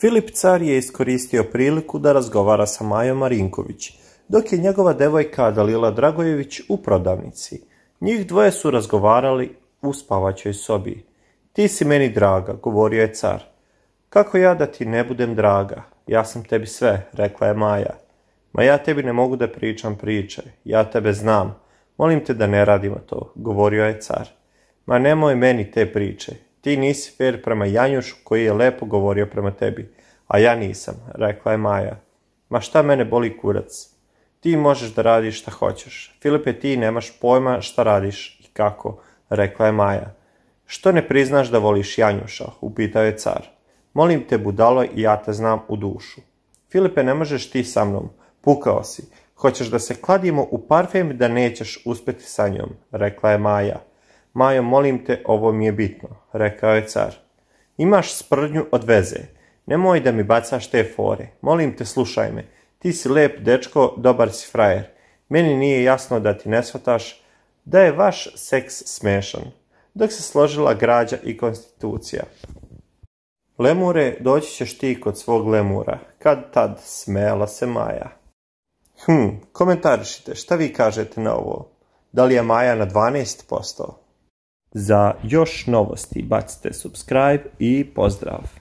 Filip car je iskoristio priliku da razgovara sa Majom Marinković, dok je njegova devojka Dalila Dragojević u prodavnici. Njih dvoje su razgovarali u spavaćoj sobi. Ti si meni draga, govorio je car. Kako ja da ti ne budem draga? Ja sam tebi sve, rekla je Maja. Ma ja tebi ne mogu da pričam priče, ja tebe znam. Molim te da ne radimo to, govorio je car. Ma nemoj meni te priče. Ti nisi fer prema Janjušu koji je lepo govorio prema tebi, a ja nisam, rekla je Maja. Ma šta mene boli kurac? Ti možeš da radiš šta hoćeš. Filipe, ti nemaš pojma šta radiš i kako, rekla je Maja. Što ne priznaš da voliš Janjuša, upitao je car. Molim te, budalo, i ja te znam u dušu. Filipe, ne možeš ti sa mnom, pukao si. Hoćeš da se kladimo u parfem da nećeš uspjeti sa njom, rekla je Maja. Majo, molim te, ovo mi je bitno, rekao je car. Imaš sprdnju od veze. Nemoj da mi bacaš te fore. Molim te, slušaj me. Ti si lep dečko, dobar si frajer. Meni nije jasno da ti ne shvataš da je vaš seks smešan. Dok se složila građa i konstitucija. Lemure, doći ćeš ti kod svog lemura. Kad tad, smejala se Maja. Komentarišite, šta vi kažete na ovo? Da li je Maja na 12%? Za još novosti bacite subscribe i pozdrav!